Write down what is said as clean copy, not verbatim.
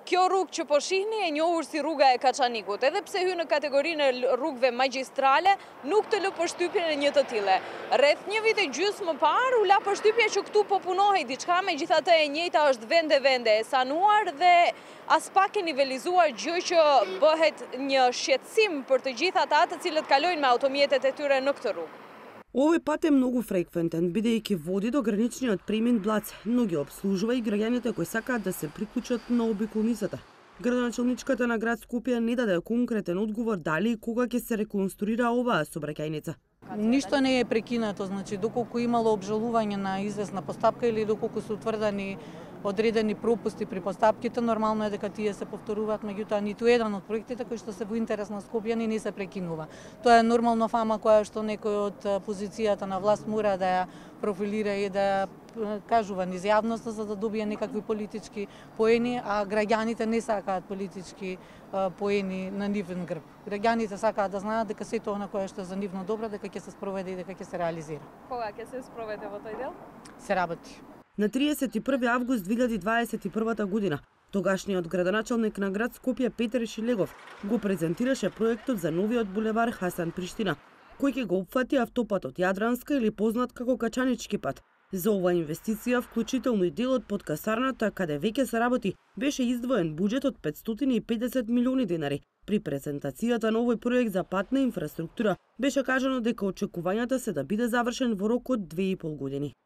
Kjo rrugë që po shihni e njohur si rruga e Kaçanikut, edhe pse hyn në kategorinë e rrugëve magjistrale, nuk të lë përshtypjen e një të tille. Rreth një vit e gjysmë më parë u la përshtypja që këtu po punohej diçka, megjithatë e njëjta është vende e sanuar dhe as pak e nivelizuar, gjë që bëhet një shqetësim për të gjithë ata të cilët kalojnë me automjetet e tyre në këtë rrugë. Овој пат е многу фреквентен, бидејќи води до граничниот премин Блац, но ги обслужува и граѓаните кои сакаат да се приклучат на обиколницата. Градоначалничката на град Скопје не даде конкретен одговор дали и кога ќе се реконструира оваа сообраќајница. Ништо не е прекинато, значи доколку имало обжалување на известна постапка или доколку се утврдени одредени пропусти при постапките, нормално е дека тие се повторуваат, меѓутоа ниту еден од проектите кои што се во интерес на Скопјани не се прекинува. Тоа е нормална фама која што некој од позицијата на власт мора да ја профилира и да ја кажува низ јавноста за да добие некакви политички поени, а граѓаните не сакаат политички поени на нивен грб. Граѓаните сакаат да знаат дека сето она кое што е за нивно добро, дека ќе се спроведе и дека ќе се реализира. Кога ќе се спроведе во тој дел? Се работи. На 31 август 2021 година, тогашниот градоначалник на град Скопје Петер Шилегов го презентираше проектот за новиот булевар Хасан Приштина, кој ќе го опфати автопатот Јадранска или познат како Качанички пат. За оваа инвестиција, вклучително и делот под касарната, каде веќе се работи, беше издвоен буџет од 550 милиони денари. При презентацијата на овој проект за патна инфраструктура беше кажано дека очекувањата се да биде завршен во рок од 2,5 години.